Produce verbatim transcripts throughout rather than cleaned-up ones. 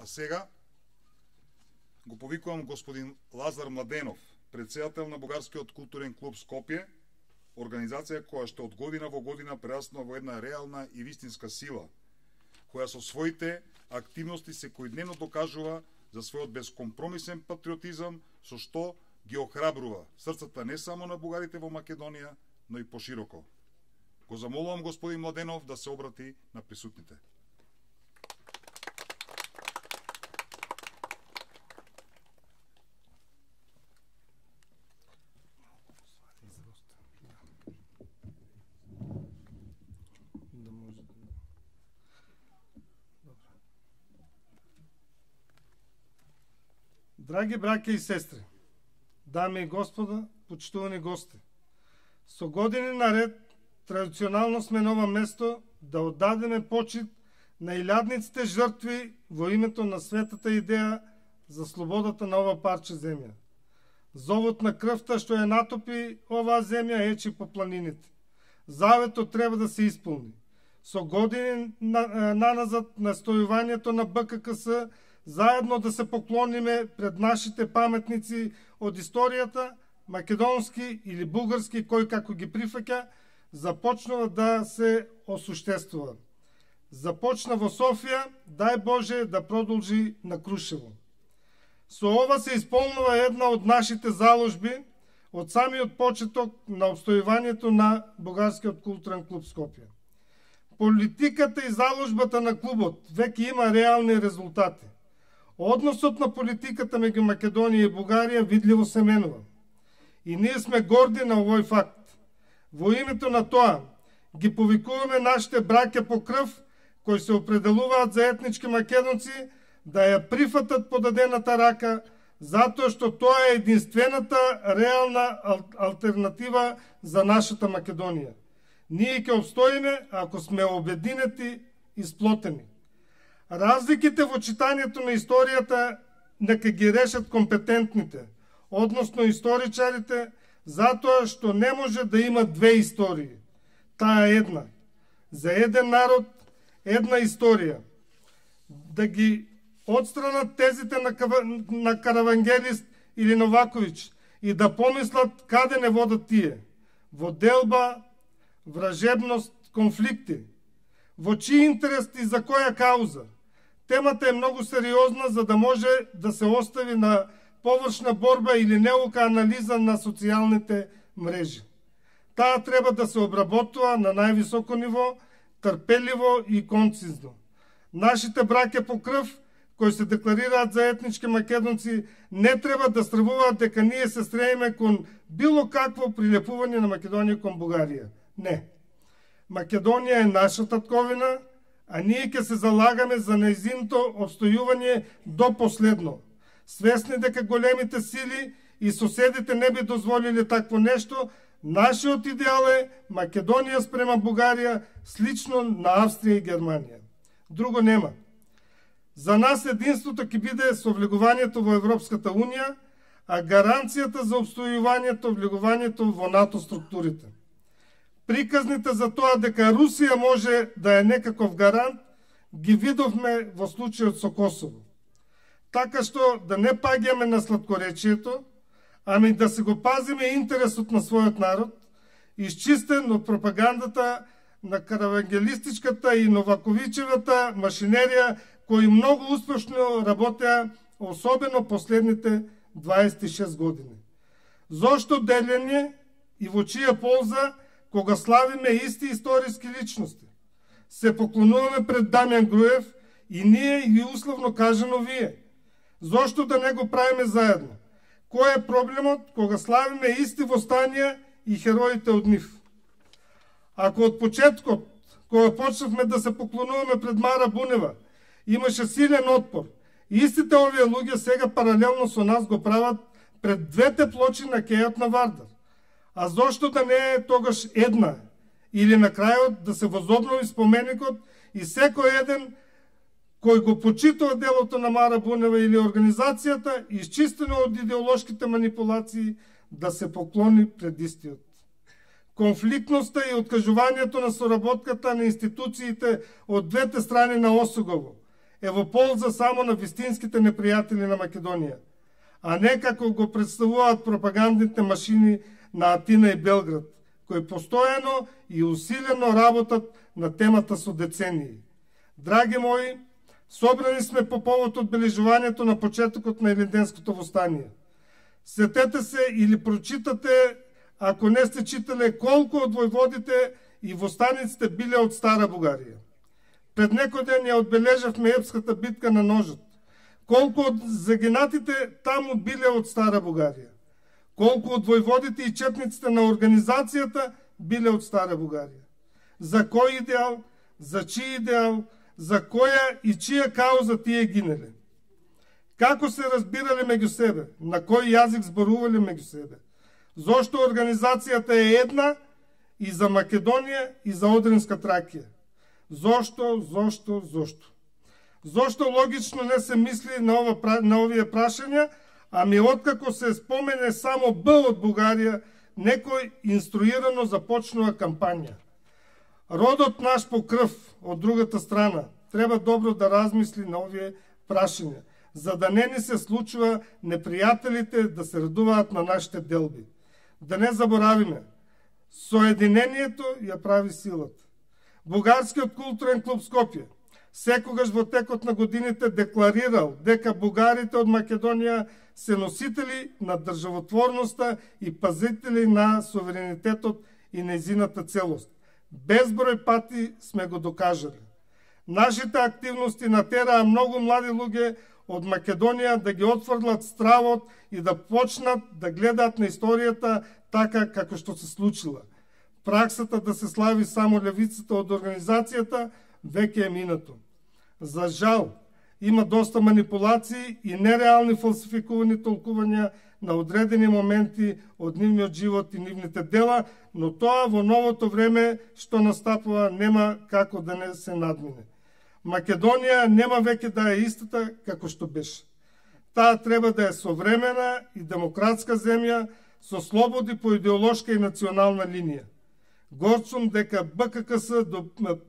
А сега го повикувам господин Лазар Младенов, председател на Бугарскиот културен клуб Скопје, организација која што од година во година прераснува во една реална и вистинска сила, која со своите активности секојдневно докажува за својот безкомпромисен патриотизам, со што ги охрабрува срцата не само на бугарите во Македонија, но и пошироко. Го замолувам господин Младенов да се обрати на присутните. Драги браќа и сестри, дами и господа, почитувани гости, со години наред традиционално сме на ова место да оддадеме почит на илјадниците жртви во името на светата идеја за слободата на ова парче земја. Зовот на крвта што ја натопи оваа земја ечи по планините. Заветот треба да се исполни. Со години на, наназад настојувањето на Б К К С заедно да се поклониме пред нашите паметници од историјата, македонски или бугарски, кој како ги прифаќа, започнува да се осуштествува. Започна во Софија, дај Боже да продолжи на Крушево. Со ова се исполнува една од нашите заложби од самиот почеток на обстојувањето на Бугарскиот културен клуб Скопје. Политиката и заложбата на клубот веќе има реални резултати. Односот на политиката меѓу Македонија и Бугарија видливо се менува. И ние сме горди на овој факт. Во името на тоа ги повикуваме нашите браќа по крв, кои се определуваат за етнички македонци, да ја прифатат подадената рака, затоа што тоа е единствената реална алтернатива за нашата Македонија. Ние ќе обстоиме ако сме обединети и сплотени. Разликите во читањето на историјата нека ги решат компетентните, односно историчарите, затоа што не може да има две истории. Таа е една. За еден народ, една историја. Да ги отстранат тезите на, на Каравангелист или Новаковиќ и да помислат каде не водат тие. Во делба, вражебност, конфликти. Во чии интерес и за која кауза? Темата е многу сериозна за да може да се остави на површна борба или неука анализа на социјалните мрежи. Таа треба да се обработува на највисоко ниво, трпеливо и концизно. Нашите браќа по крв, кои се декларираат за етнички македонци, не треба да стравуваат дека ние се стремиме кон било какво прилепување на Македонија кон Бугарија. Не. Македонија е наша татковина, а ние ќе се залагаме за нејзиното обстојување до последно. Свесни дека големите сили и соседите не би дозволили такво нешто, нашиот идеал е Македонија спрема Бугарија слично на Австрија и Германија. Друго нема. За нас единството ќе биде со влегувањето во Европската Унија, а гаранцијата за обстојувањето влегувањето во НАТО структурите. Приказните за тоа дека Русија може да е некаков гарант, ги видовме во случајот со Косово. Така што да не паѓаме на сладкоречието, ами да се го пазиме интересот на својот народ, изчистен од пропагандата на каравангелистичката и Новаковичевата машинерија, кои многу успешно работеа, особено последните дваесет и шест години. Зошто делење и во чија полза, кога славиме исти историски личности? Се поклонуваме пред Дамјан Груев и ние и условно кажано вие. Зошто да не го правиме заедно? Кој е проблемот кога славиме исти востанија и хероите од нив? Ако од почеткот, кога почнавме да се поклонуваме пред Мара Бунева, имаше силен отпор, истите овие луѓе сега паралелно со нас го прават пред двете плочи на кејот на Вардар. А зошто да не е тогаш една? Или на крајот да се возобнови споменикот и секој еден кој го почитува делото на Мара Бунева или организацијата, изчистено од идеолошките манипулации, да се поклони пред истиот. Конфликтноста и откажувањето на соработката на институциите од двете страни на Осогово, е во полза само на вистинските непријатели на Македонија, а не како го представуваат пропагандните машини на Атина и Белград, кои постојано и усилено работат на темата со децении. Драги мои, собрани сме по повод одбележувањето на почетокот на Илинденското востание. Сетете се или прочитате, ако не сте читале, колку од војводите и востаниците биле од Стара Бугарија. Пред некој ден ја одбележавме епската битка на ножот. Колку од загинатите таму биле од Стара Бугарија. Колку од војводите и четниците на организацијата биле од Стара Бугарија. За кој идеал, за чиј идеал, за која и чија кауза тие гинеле. Како се разбирале меѓу себе, на кој јазик зборувале меѓу себе. Зошто организацијата е една и за Македонија и за Одринска Тракија. Зошто, зошто, зошто? Зошто логично не се мисли на, ова, на овие прашања, ами откако се спомене само Б од Бугарија, некој инструирано започнува кампања. Родот наш по крв од другата страна треба добро да размисли на овие прашања, за да не ни се случува непријателите да се радуваат на нашите делби. Да не заборавиме, соединението ја прави силата. Бугарскиот културен клуб Скопје секогаш во текот на годините декларирал дека бугарите од Македонија се носители на државотворноста и пазители на суверенитетот и нејзината целост. Безброј пати сме го докажали. Нашите активности натераа многу млади луѓе од Македонија да ги отфрлат стравот и да почнат да гледаат на историјата така како што се случила. Праксата да се слави само левицата од организацијата веќе е минато. За жал, има доста манипулации и нереални фалсификувани толкувања на одредени моменти од нивниот живот и нивните дела, но тоа во новото време што настапува нема како да не се надмине. Македонија нема веќе да е истата како што беше. Таа треба да е современа и демократска земја со слободи по идеолошка и национална линија. Горд сум дека Б К К С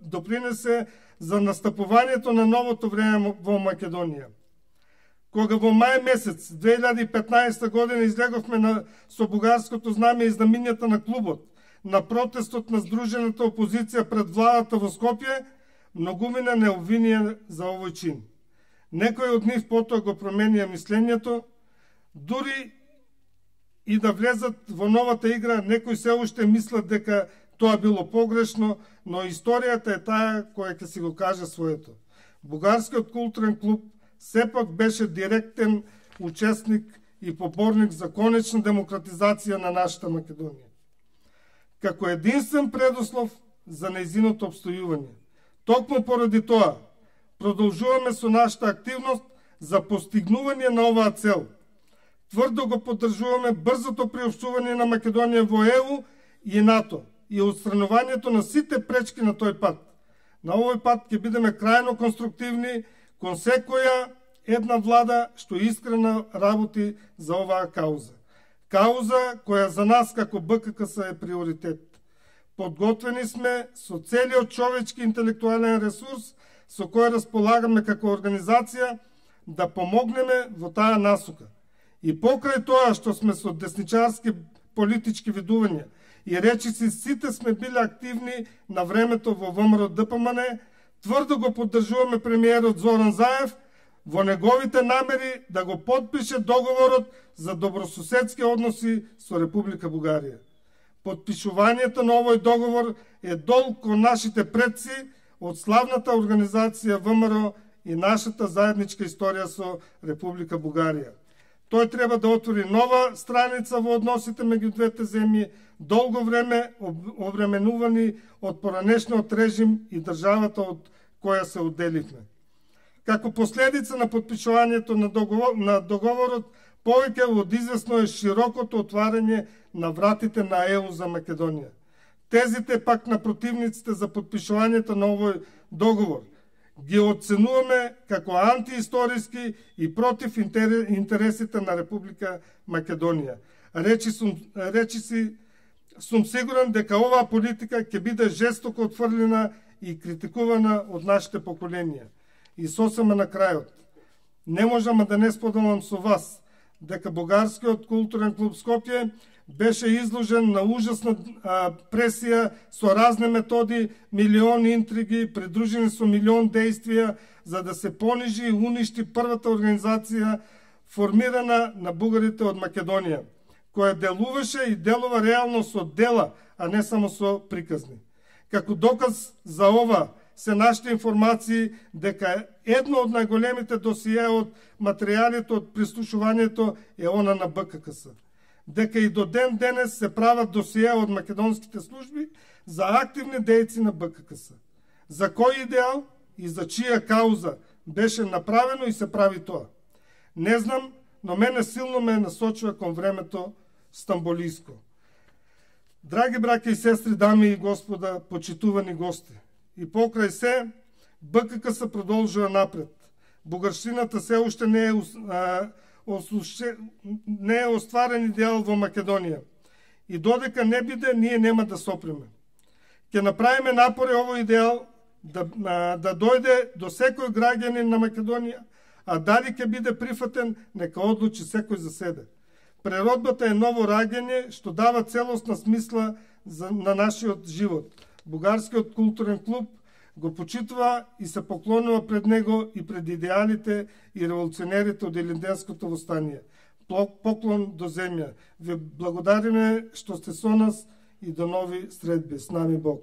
допринесе за настапувањето на новото време во Македонија. Кога во мај месец две илјади и петнаесета година излеговме на, со бугарското знаме и знамињата на клубот, на протестот на здружената опозиција пред владата во Скопје, многумина не обвинија за овој чин. Некои од нив потоа го променија мислењето, дури и да влезат во новата игра, некои се уште мислат дека тоа било погрешно, но историјата е таа која ќе си го каже своето. Бугарскиот културен клуб сепак беше директен учесник и поборник за конечна демократизација на нашата Македонија. Како единствен предуслов за нејзиното обстојување. Токму поради тоа, продолжуваме со нашата активност за постигнување на оваа цел. Тврдо го поддржуваме брзото приопштување на Македонија во Е У и НАТО и отстранувањето на сите пречки на тој пат. На овој пат ќе бидеме крајно конструктивни кон секоја една влада што искрено работи за оваа кауза. Кауза која за нас како Б К К С е приоритет. Подготвени сме со целиот човечки интелектуален ресурс со кој располагаме како организација да помогнеме во таа насока. И покрај тоа што сме со десничарски политички видувања и речиси сите сме биле активни на времето во Вэ М Р Д П М Н, тврдо го поддржуваме премиерот Зоран Заев во неговите намери да го подпише договорот за добрососедски односи со Република Бугарија. Подпишувањето на овој договор е долг кон нашите предци од славната организација Вэ М Р и нашата заедничка историја со Република Бугарија. Тој треба да отвори нова страница во односите меѓу двете земји, долго време обременувани од поранешниот режим и државата од која се одделивме. Како последица на подпишувањето на, договор, на договорот, повеќе од известно е широкото отварање на вратите на Е У за Македонија. Тезите пак на противниците за подпишувањето на овој договор ги оценуваме како антиисториски и против интересите на Република Македонија. Речи сум, речи си, сум сигурен дека оваа политика ќе биде жестоко отфрлена и критикувана од нашите поколенија. И сосема на крајот. Не можам да не споделам со вас дека Бугарскиот културен клуб Скопје беше изложен на ужасна а, пресија со разни методи, милиони интриги, придружени со милион действија за да се понижи и уништи првата организација формирана на бугарите од Македонија, која делуваше и делува реално со дела, а не само со приказни. Како доказ за ова се нашите информации дека едно од најголемите досије од материјалите од прислушувањето е она на Б К К С. Дека и до ден денес се прават досије од македонските служби за активни дејци на Б К К С. За кој идеал и за чија кауза беше направено и се прави тоа? Не знам, но мене силно ме насочува кон времето стамболиско. Драги браќа и сестри, дами и господа, почитувани гости, и покрај се, Б К К С продолжува напред. Бугарщината се уште не е, а, осуше, не е остварен идеал во Македонија. И додека не биде, ние нема да сопреме. Ќе направиме напори овој идеал да, а, да дојде до секој граѓанин на Македонија, а дали ќе биде прифатен, нека одлучи секој за себе. Природбата е ново раѓање што дава целосна смисла за, на нашиот живот. Бугарскиот културен клуб го почитува и се поклонува пред него и пред идеалите и револуционерите од Илинденското востание. Поклон до земја. Ве благодариме што сте со нас и до нови средби. С нами Бог.